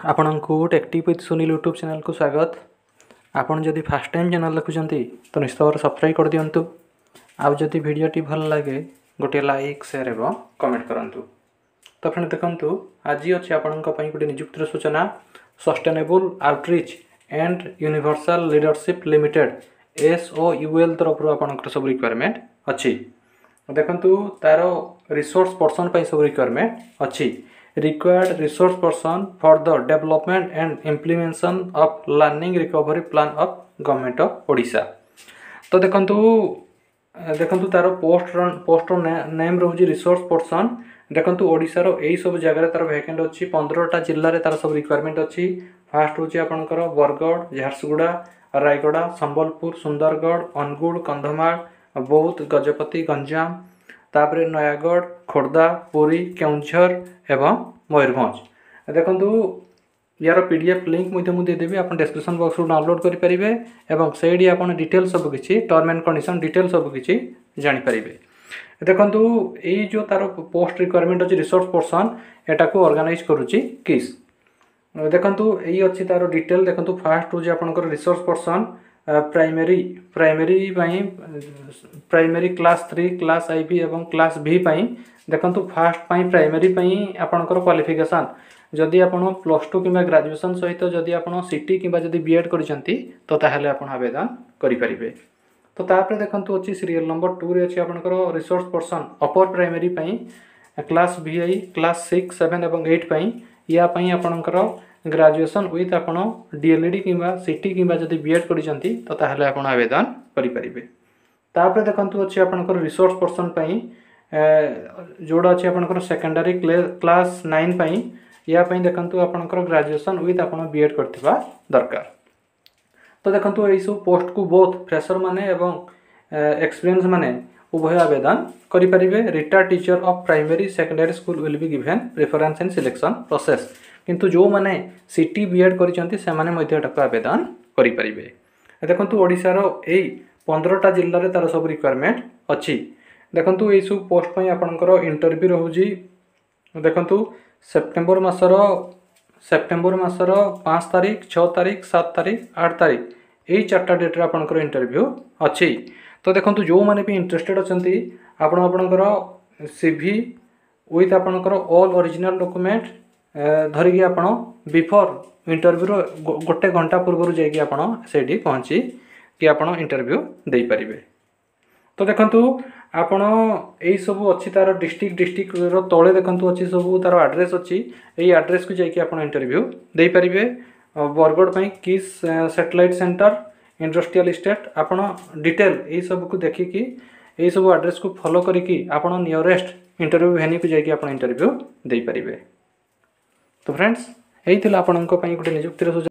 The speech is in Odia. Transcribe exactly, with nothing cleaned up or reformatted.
ଆପଣଙ୍କୁ ଟେକ୍ଟିଭ୍ ୱିଥ୍ ସୁନୀଲ ୟୁଟ୍ୟୁବ୍ ଚ୍ୟାନେଲ୍କୁ ସ୍ୱାଗତ ଆପଣ ଯଦି ଫାର୍ଷ୍ଟ ଟାଇମ୍ ଚ୍ୟାନେଲ୍ ଦେଖୁଛନ୍ତି ତ ନିଶ୍ଚିତ ଭାବରେ ସବସ୍କ୍ରାଇବ୍ କରିଦିଅନ୍ତୁ ଆଉ ଯଦି ଭିଡ଼ିଓଟି ଭଲ ଲାଗେ ଗୋଟିଏ ଲାଇକ୍ ସେୟାର ଏବଂ କମେଣ୍ଟ କରନ୍ତୁ ତ ଫ୍ରେଣ୍ଡ ଦେଖନ୍ତୁ ଆଜି ଅଛି ଆପଣଙ୍କ ପାଇଁ ଗୋଟିଏ ନିଯୁକ୍ତିର ସୂଚନା Sustainable Outreach and Universal Leadership Limited S O U L ତରଫରୁ ଆପଣଙ୍କର ସବୁ ରିକ୍ୱାରମେଣ୍ଟ ଅଛି ଦେଖନ୍ତୁ ତାର ରିସୋର୍ସ ପର୍ସନ୍ ପାଇଁ ସବୁ ରିକ୍ୱାରମେଣ୍ଟ ଅଛି required resource person for the development and implementation of learning recovery plan of government of Odisha ତ ଦେଖନ୍ତୁ ଦେଖନ୍ତୁ ତାର ପୋଷ୍ଟର ପୋଷ୍ଟର ନେମ୍ ରହୁଛି ରିସୋର୍ସ ପର୍ସନ୍ ଦେଖନ୍ତୁ ଓଡ଼ିଶାର ଏଇସବୁ ଜାଗାରେ ତାର ଭ୍ୟାକେଣ୍ଟ ଅଛି ପନ୍ଦରଟା ଜିଲ୍ଲାରେ ତାର ସବୁ ରିକ୍ୱାରମେଣ୍ଟ ଅଛି ଫାର୍ଷ୍ଟ ହେଉଛି ଆପଣଙ୍କର ବରଗଡ଼ ଝାରସୁଗୁଡ଼ା ରାୟଗଡ଼ା ସମ୍ବଲପୁର ସୁନ୍ଦରଗଡ଼ ଅନୁଗୁଳ କନ୍ଧମାଳ ବୌଦ୍ଧ ଗଜପତି ଗଞ୍ଜାମ ତାପରେ ନୟାଗଡ଼ ଖୋର୍ଦ୍ଧା ପୁରୀ କେଉଁଝର ଏବଂ ମୟୂରଭଞ୍ଜ ଦେଖନ୍ତୁ ୟାର ପି ଡି ଏଫ୍ ଲିଙ୍କ୍ ମଧ୍ୟ ମୁଁ ଦେଇଦେବି ଆପଣ ଡେସ୍କ୍ରିପସନ୍ ବକ୍ସରୁ ଡାଉନଲୋଡ଼୍ କରିପାରିବେ ଏବଂ ସେଇଠି ଆପଣ ଡିଟେଲ୍ ସବୁ କିଛି ଟର୍ମ ଆଣ୍ଡ କଣ୍ଡିସନ୍ ଡିଟେଲ୍ ସବୁ କିଛି ଜାଣିପାରିବେ ଦେଖନ୍ତୁ ଏଇ ଯେଉଁ ତାର ପୋଷ୍ଟ ରିକ୍ୱାରମେଣ୍ଟ ଅଛି ରିସୋର୍ସ ପର୍ସନ୍ ଏଟାକୁ ଅର୍ଗାନାଇଜ୍ କରୁଛି କିସ୍ ଦେଖନ୍ତୁ ଏଇ ଅଛି ତାର ଡିଟେଲ୍ ଦେଖନ୍ତୁ ଫାର୍ଷ୍ଟ ହେଉଛି ଆପଣଙ୍କର ରିସୋର୍ସ ପର୍ସନ୍ ପ୍ରାଇମେରୀ ପ୍ରାଇମେରୀ ପାଇଁ primary class three class I V ଏବଂ କ୍ଲାସ୍ ଭି ପାଇଁ ଦେଖନ୍ତୁ ଫାର୍ଷ୍ଟ ପାଇଁ ପ୍ରାଇମେରୀ ପାଇଁ ଆପଣଙ୍କର କ୍ୱାଲିଫିକେସନ୍ ଯଦି ଆପଣ ପ୍ଲସ୍ ଟୁ କିମ୍ବା ଗ୍ରାଜୁଏସନ୍ ସହିତ ଯଦି ଆପଣ ସି ଟି କିମ୍ବା ଯଦି ବି ଏଡ଼୍ କରିଛନ୍ତି ତ ତାହେଲେ ଆପଣ ଆବେଦନ କରିପାରିବେ ତ ତାପରେ ଦେଖନ୍ତୁ ଅଛି ସିରିଏଲ୍ ନମ୍ବର ଟୁରେ ଅଛି ଆପଣଙ୍କର ରିସୋର୍ସ ପର୍ସନ୍ ଅପର ପ୍ରାଇମେରୀ ପାଇଁ class V I class six seven ଏବଂ ଏଇଟ୍ ପାଇଁ ୟା ପାଇଁ ଆପଣଙ୍କର ଗ୍ରାଜୁଏସନ୍ ୱିଥ୍ ଆପଣ ଡି ଏଲ୍ ଇ ଡ଼ି କିମ୍ବା ସି ଟି କିମ୍ବା ଯଦି ବି ଏଡ଼୍ କରିଛନ୍ତି ତ ତାହେଲେ ଆପଣ ଆବେଦନ କରିପାରିବେ ତାପରେ ଦେଖନ୍ତୁ ଅଛି ଆପଣଙ୍କର ରିସୋର୍ସ ପର୍ସନ୍ ପାଇଁ ଯେଉଁଟା ଅଛି ଆପଣଙ୍କର ସେକେଣ୍ଡାରୀ କ୍ଲାସ୍ ନାଇନ୍ ପାଇଁ ୟା ପାଇଁ ଦେଖନ୍ତୁ ଆପଣଙ୍କର ଗ୍ରାଜୁଏସନ୍ ୱିଥ୍ ଆପଣ ବି ଏଡ଼୍ କରିଥିବା ଦରକାର ତ ଦେଖନ୍ତୁ ଏଇସବୁ ପୋଷ୍ଟକୁ ବୋଥ୍ ଫ୍ରେସର୍ ମାନେ ଏବଂ ଏକ୍ସପିରିଏନ୍ସ ମାନେ ଉଭୟ ଆବେଦନ କରିପାରିବେ retired teacher of primary secondary school will be given preference in selection process କିନ୍ତୁ ଯେଉଁମାନେ ସି ଟି ବି ଏଡ଼୍ କରିଛନ୍ତି ସେମାନେ ମଧ୍ୟ ଏଟାକୁ ଆବେଦନ କରିପାରିବେ ଦେଖନ୍ତୁ ଓଡ଼ିଶାର ଏଇ ପନ୍ଦରଟା ଜିଲ୍ଲାରେ ତା'ର ସବୁ ରିକ୍ୱାରମେଣ୍ଟ ଅଛି ଦେଖନ୍ତୁ ଏଇସବୁ ପୋଷ୍ଟ ପାଇଁ ଆପଣଙ୍କର ଇଣ୍ଟରଭ୍ୟୁ ରହୁଛି ଦେଖନ୍ତୁ ସେପ୍ଟେମ୍ବର ମାସର ସେପ୍ଟେମ୍ବର ମାସର ପାଞ୍ଚ ତାରିଖ ଛଅ ତାରିଖ ସାତ ତାରିଖ ଆଠ ତାରିଖ ଏଇ ଚାରିଟା ଡେଟ୍ରେ ଆପଣଙ୍କର ଇଣ୍ଟରଭ୍ୟୁ ଅଛି ତ ଦେଖନ୍ତୁ ଯେଉଁମାନେ ବି ଇଣ୍ଟରେଷ୍ଟେଡ଼ ଅଛନ୍ତି ଆପଣ ଆପଣଙ୍କର ସି ଭି ୱିଥ୍ ଆପଣଙ୍କର ଅଲ୍ ଅରିଜିନାଲ୍ ଡକୁମେଣ୍ଟ ଧରିକି ଆପଣ ବିଫୋର୍ ଇଣ୍ଟରଭ୍ୟୁର ଗୋଟେ ଘଣ୍ଟା ପୂର୍ବରୁ ଯାଇକି ଆପଣ ସେଇଠି ପହଞ୍ଚିକି ଆପଣ ଇଣ୍ଟରଭ୍ୟୁ ଦେଇପାରିବେ ତ ଦେଖନ୍ତୁ ଆପଣ ଏଇସବୁ ଅଛି ତା'ର ଡିଷ୍ଟ୍ରିକ୍ଟ ଡିଷ୍ଟ୍ରିକ୍ଟର ତଳେ ଦେଖନ୍ତୁ ଅଛି ସବୁ ତା'ର ଆଡ୍ରେସ୍ ଅଛି ଏଇ ଆଡ୍ରେସ୍କୁ ଯାଇକି ଆପଣ ଇଣ୍ଟରଭ୍ୟୁ ଦେଇପାରିବେ ବରଗଡ଼ ପାଇଁ କିସ୍ ସାଟେଲାଇଟ୍ ସେଣ୍ଟର ଇଣ୍ଡଷ୍ଟ୍ରିଆଲ ଇଷ୍ଟେଟ୍ ଆପଣ ଡିଟେଲ୍ ଏଇସବୁକୁ ଦେଖିକି ଏଇସବୁ ଆଡ୍ରେସ୍କୁ ଫଲୋ କରିକି ଆପଣ ନିୟରେଷ୍ଟ ଇଣ୍ଟରଭ୍ୟୁ ଭେନ୍ୟୁକୁ ଯାଇକି ଆପଣ ଇଣ୍ଟରଭ୍ୟୁ ଦେଇପାରିବେ ତ ଫ୍ରେଣ୍ଡସ୍ ଏଇ ଥିଲା ଆପଣଙ୍କ ପାଇଁ ଗୋଟେ ନିଯୁକ୍ତିର ସୂଚନା